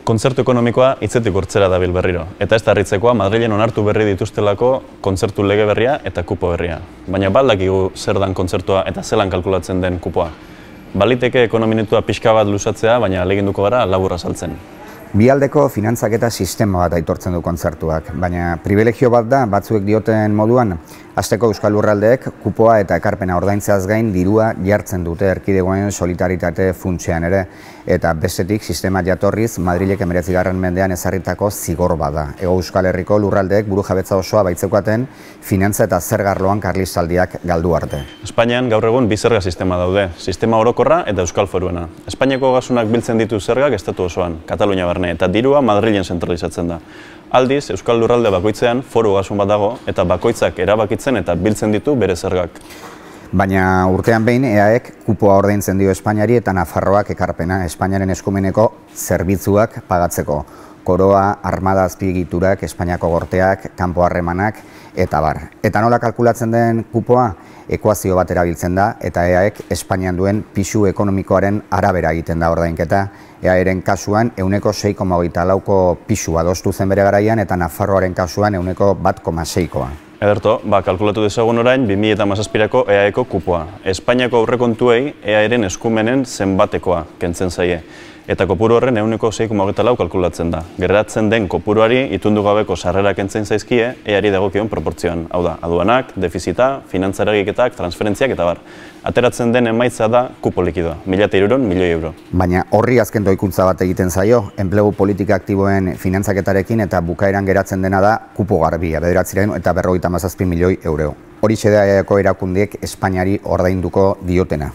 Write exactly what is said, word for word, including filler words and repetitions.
Kontzertu ekonomikoa hitzetik hortzera dabil berriro. Eta ez da harritzekoa, Madrilen onartu berri dituztelako kontzertu lege berria eta kupo berria. Baina baldakigu zer dan kontzertua eta zelan kalkulatzen den kupoa. Baliteke ekonominetua pixka bat luzatzea, baina aleginduko gara laburra saltzen. Bialdeko finantzaketa sistema bat aitortzen du kontzertuak, baina privilegio bat da batzuek dioten moduan, hasteko Euskal Lurraldeek kupoa eta ekarpena ordaintzeaz gain dirua jartzen dute erkidegoen solidaritate funtsean ere, eta bestetik sistema jatorriz Madrilek hemeretzigarren mendean ezarritako zigor bada. Hego Euskal Herriko lurraldeek burujabetza osoa baitzeukaten finantza eta zergarloan karlistaldiak galdu arte. Espainian gaur egun bi zerga sistema daude, sistema orokorra eta Euskal Foruena. Espainiako gasunak biltzen ditu zergak estatu osoan, Katalunia barne, eta dirua Madrilen zentralizatzen da. Aldiz, Euskal Lurralde bakoitzean foru gasun bat dago eta bakoitzak erabakitzen eta biltzen ditu bere zergak. Baina urtean behin E A Ek kupoa ordaintzen dio Espainiari eta Nafarroak ekarpena Espainiaren eskumeneko zerbitzuak pagatzeko. Koroa, armada azpiegiturak, Espainiako gorteak, kanpo harremanak eta bar. Eta nola kalkulatzen den kupoa? Ekuazio bat erabiltzen da eta E A Ek Espainian duen pisu ekonomikoaren arabera egiten da ordainketa. E A Eren kasuan ehuneko sei koma hogeita lauko pisu adostu zen bere garaian eta Nafarroaren kasuan ehuneko bat koma seikoa. Ederto, ba, kalkulatu dezagun orain bi mila hamazazpirako E A Eko kupoa. Espainiako aurrekontuei E A Eren eskumenen zenbatekoa kentzen zaie. Eta kopuru horren ehuneko sei koma hogeita lau kalkulatzen da. Geratzen den kopuruari itundu gabeko sarrera kentzen zaizkie E Ari dagokion proportzioan. Hau da, aduanak, defizita, finantzaragiketak, transferentziak eta bar. Ateratzen den emaitza da kupo likidoa, mila hirurehun milioi euro. Baina horri azken doikuntza bat egiten zaio, enplegu politika aktiboen finantzaketarekin eta bukaeran geratzen dena da kupo garbia, bederatziehun eta berrogeita hamazazpi milioi euro. Horixe da E A Eko erakundeek Espainiari ordainduko diotena.